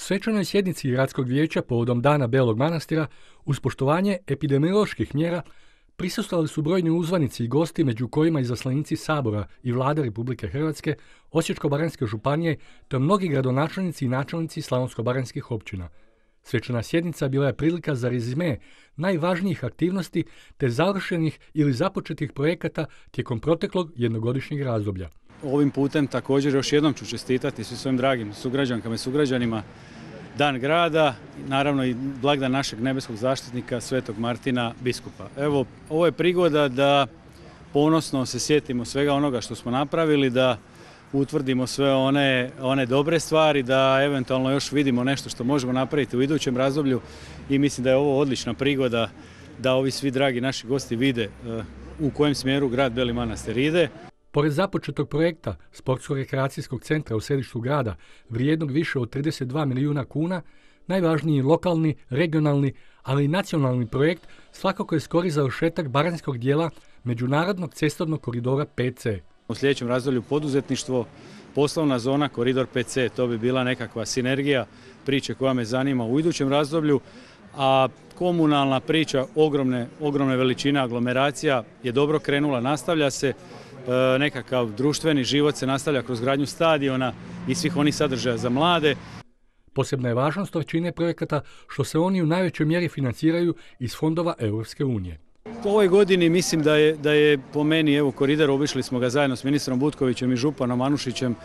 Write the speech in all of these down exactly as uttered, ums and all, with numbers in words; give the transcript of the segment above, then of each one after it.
Svečanoj sjednici Gradskog vijeća povodom Dana Belog Manastira uz poštovanje epidemioloških mjera prisustvovali su brojni uzvanici i gosti, među kojima izaslanici Sabora i Vlade Republike Hrvatske, Osječko-baranjske županije te mnogi gradonačelnici i načelnici slavonsko-baranjskih općina. Svečana sjednica bila je prilika za rezime najvažnijih aktivnosti te završenih ili započetih projekata tijekom proteklog jednogodišnjeg razdoblja. Ovim putem također još jednom ću čestitati svim svojim dragim sugrađankama i sugrađanima Dan grada, naravno i blagdan našeg nebeskog zaštitnika Svetog Martina biskupa. Evo, ovo je prigoda da ponosno se sjetimo svega onoga što smo napravili, da utvrdimo sve one, one dobre stvari, da eventualno još vidimo nešto što možemo napraviti u idućem razdoblju i mislim da je ovo odlična prigoda da ovi svi dragi naši gosti vide u kojem smjeru grad Beli Manastir ide. Pored započetog projekta Sportsko-rekreacijskog centra u središtu grada, vrijednog više od trideset dva milijuna kuna, najvažniji lokalni, regionalni, ali i nacionalni projekt svakako je skori završetak baranjskog dijela međunarodnog cestovnog koridora pet ce. U sljedećem razdoblju poduzetništvo, poslovna zona, koridor pet ce, to bi bila nekakva sinergija priče koja me zanima u idućem razdoblju, a komunalna priča ogromne, ogromne veličine aglomeracija je dobro krenula, nastavlja se. Nekakav društveni život se nastavlja kroz gradnju stadiona i svih onih sadržaja za mlade. Posebna je važnost većine projekata što se oni u najvećoj mjeri financiraju iz fondova Europske unije. U ovoj godini mislim da je, da je po meni, evo koridor, obišli smo ga zajedno s ministrom Butkovićem i županom Anušićem,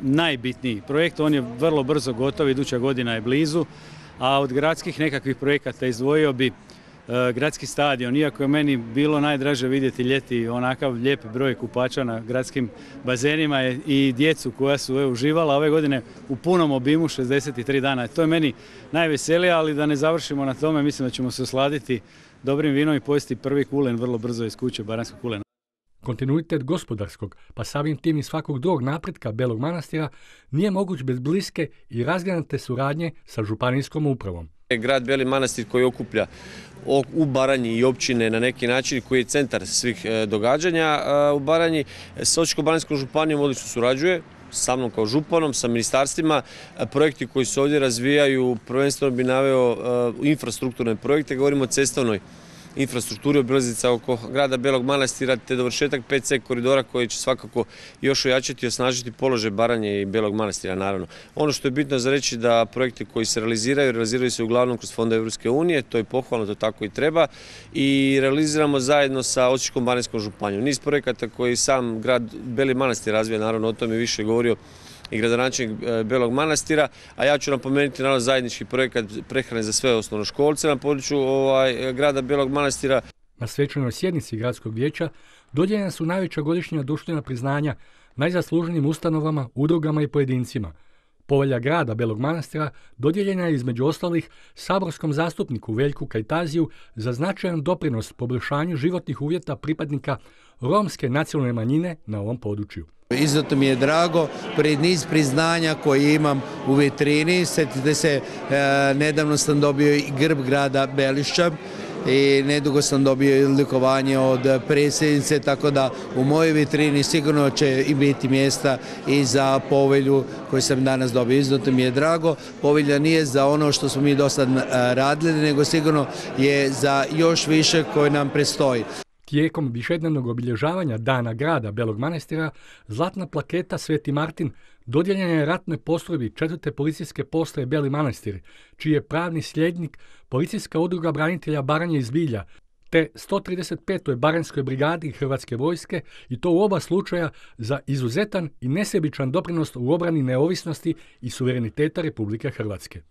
najbitniji projekt. On je vrlo brzo gotov, iduća godina je blizu, a od gradskih nekakvih projekata izdvojio bi gradski stadion, iako je meni bilo najdraže vidjeti ljeti onakav lijep broj kupača na gradskim bazenima i djecu koja su evo, uživala ove godine u punom obimu šezdeset tri dana. To je meni najveselije, ali da ne završimo na tome, mislim da ćemo se osladiti dobrim vinom i pojesti prvi kulen vrlo brzo iz kuće baranjskog kulena. Kontinuitet gospodarskog, pa samim tim i svakog drugog napretka Belog Manastira nije moguć bez bliske i razgranate suradnje sa županijskom upravom. Grad Beli Manastir koji okuplja u Baranji i općine na neki način, koji je centar svih događanja u Baranji, s Osječko-baranjskom županijom odlično surađuje, sa mnom kao županom, sa ministarstvima. Projekti koji se ovdje razvijaju, prvenstveno bi naveo infrastrukturne projekte, govorimo o cestovnoj infrastrukturi, obilaznica oko grada Belog Manastira te dovršetak pet ce koridora koji će svakako još ojačati i osnažiti položaj Baranje i Belog Manastira naravno. Ono što je bitno za reći da projekti koji se realiziraju, realiziraju se uglavnom kroz fondove Europske unije, to je pohvalno, to tako i treba i realiziramo zajedno sa Osječko-baranjskom županijom. Niz projekata koji sam grad Beli Manastir razvija, naravno o tome više govorio i gradonačelnik Belog Manastira, a ja ću napomenuti naravno zajednički projekat prehrane za sve osnovnoškolce na području ovaj, grada Belog Manastira. Na svečanoj sjednici Gradskog vijeća dodijeljena su najveća godišnja društvena priznanja najzasluženijim ustanovama, udrugama i pojedincima. Povelja grada Belog Manastira dodijeljena je između ostalih saborskom zastupniku Veljku Kajtaziju za značajan doprinos poboljšanju životnih uvjeta pripadnika romske nacionalne manjine na ovom području. Izuzetno mi je drago, pred niz priznanja koje imam u vitrini. Sjetite se, nedavno sam dobio i grb grada Belišća i nedugo sam dobio i odlikovanje od predsjednice, tako da u mojoj vitrini sigurno će i biti mjesta i za povelju koju sam danas dobio. Izuzetno mi je drago, povelja nije za ono što smo mi do sad radili, nego sigurno je za još više koje nam predstoji. Tijekom višednevnog obilježavanja Dana grada Belog Manastira, zlatna plaketa Sveti Martin dodijeljena je ratnoj postrojbi četvrte policijske postaje Beli Manastir, čiji je pravni sljednik Policijska udruga branitelja Baranje iz Bilja, te sto trideset petoj baranjskoj brigadi Hrvatske vojske i to u oba slučaja za izuzetan i nesebičan doprinos u obrani neovisnosti i suvereniteta Republike Hrvatske.